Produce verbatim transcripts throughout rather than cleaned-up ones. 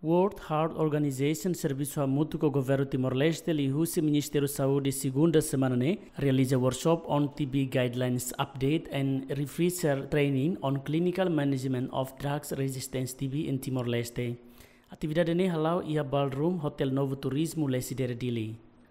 World Health Organization servisu hamutuk ho Governu Timor-Leste liuhusi Ministériu Saúde segunda semana ne'e realiza workshop on T B Guidelines Update and Refresher Training on Clinical Management of Drugs Resistant T B in Timor-Leste. Atividade ne'e hala'o iha Ballroom Hotel Novo Turismo, Lecidere, Dili.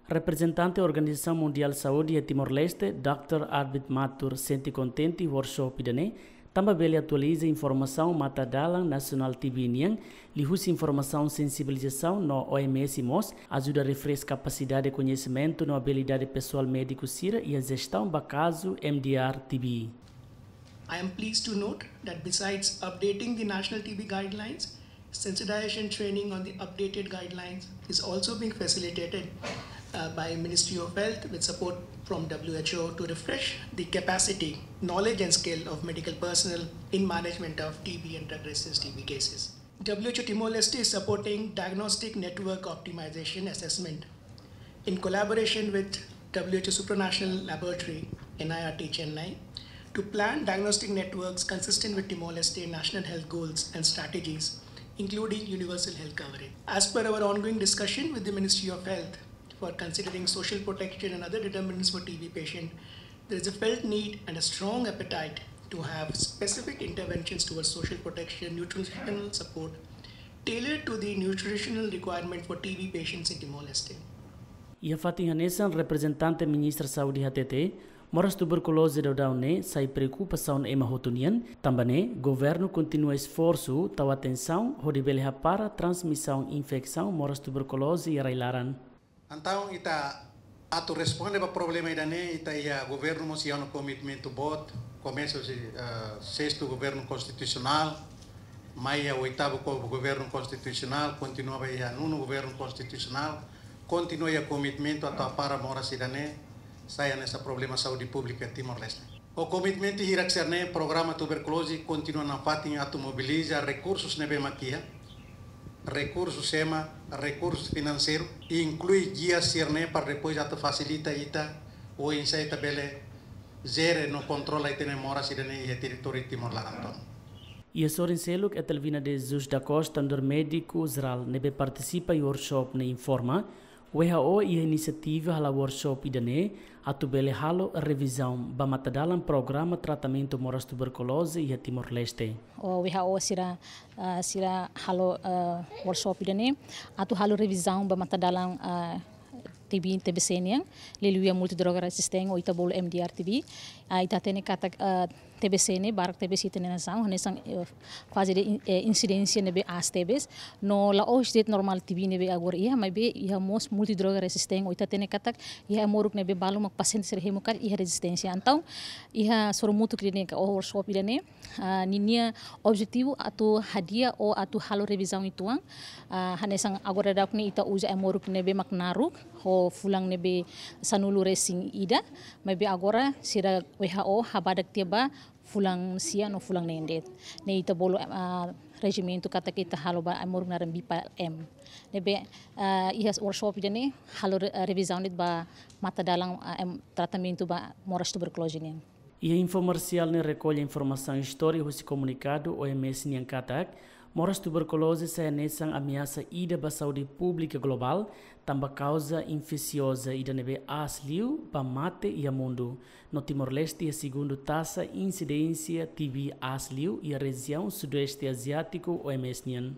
Reprezentante Organizasaun Mundiál Saúde iha Timor-Leste, Dr Arvid Matur, sente kontente workshop ida-ne'e, tanba bele atualiza informasaun matadalan nasionál T B nian, liuhusi informasaun sensibilizasaun no O M S mós ajuda refresh kapasidade, koñesimentu no abilidade pesoál médiku sira iha jestaun ba kazu M D R T B. I am pleased to note that besides updating the national T B guidelines, sensitization training on the updated guidelines is also being facilitated uh, by Ministry of Health with support from W H O to refresh the capacity, knowledge and skill of medical personnel in management of T B and drug resistant T B cases. W H O Timor-Leste is supporting diagnostic network optimization assessment in collaboration with W H O Supranational Laboratory, N I R T Chennai, to plan diagnostic networks consistent with Timor-Leste national health goals and strategies, including universal health coverage. As per our ongoing discussion with the Ministry of Health for considering social protection and other determinants for T B patient, there is a felt need and a strong appetite to have specific interventions towards social protection, nutritional support, tailored to the nutritional requirement for T B patients in Timor-Leste. Iha fatin hanesan, reprezentante Ministra Saúde hatete, moras tuberkuloze daudaun ne'e sai preokupasaun ema hotu nian, tanba ne'e governu kontinua esforsu tau atensaun hodi bele hapara transmisaun infesaun moras tuberkuloze iha rai-laran. Entaun, ita atu responde ba problema ida-ne'e, ita iha governu mós iha ona komitmentu boot, komesa husi, eh, sestu governu konstitusionál, mai iha oitavu ko-, governu konstitusionál, kontinua ba iha nonu governu konstitusionál, kontinua iha komitmentu atu hapara moras ida-ne'e sai hanesan problema saúde públika Timor-Leste. Ho komitmentu hirak sira-ne'e, programa tuberkuloze kontinua nafatin atu mobiliza rekursus ne'ebé mak iha, rekursus ema, rekursus finanseiru, inklui gia sira-ne'e para depois atu fasilita ita, oinsá ita bele jere no kontrola ita-nia moras ida-ne'e iha territóriu Timor laran tomak. Iha sorin seluk, Etelvina de Jesus da Costa, nu'udar médiku jerál ne'ebé partisipa iha workshop ne'e, informa, W H O iha inisiativa hala'o workshop ida-ne'e atu bele halo revizaun ba matadalan programa tratamentu moras tuberkuloze iha Timor-Leste. O W H O sira, ah, sira halo, ah, workshop ida-ne'e atu halo revizaun ba matadalan, ah, T B, T B C nian, liuliu iha multidroga resistente ou ita bolu M D R T B. Ah, ita hatene katak, ah, T B C ne'e, barak T B C iha ita-nia nasaun, hanesan, eh, faze de in-, eh, insidénsia ne'ebé aas tebes, no la'ós de'it normál T B ne'ebé agora iha, maibé iha mós multidroga resistente, ou ita hatene katak iha ai-moruk ne'ebé balu mak pasiente sira hemu karik iha rezisténsia. Entaun, iha sorumutu ida-ne'e ka workshop ida-ne'e, ah, ninia objetivu atu hadi'a ou atu halo revizaun uitoan, ah, hanesan agora daudaun ne'e ita uza ai-moruk ne'ebé mak naruk, ho fulan ne'ebé sanulu-resin-ida, maibé agora sira W H O habadak tiha ba fulan sia no fulan neen de'it. Ne'e ita bolu, ah, rejimentu katak ita halo ba ai-moruk naran B P M. Ne'ebé, ah, iha workshop ida-ne'e halo re-, revizaun de'it ba matadalan, ah, em, tratamentu ba moras tuberkuloze nian. Iha infomersiál ne'e rekolla informasaun istória husi komunikadu O M S nian katak, moras tuberkuloze sai hanesan ameasa ida ba saúde públika globál, tanba kauza infesioza ida ne'ebé aas liu ba mate iha mundu. No Timor-Leste iha segundu taxa insidénsia T B aas liu iha rejiaun Sudoeste Aziátiku O M S nian.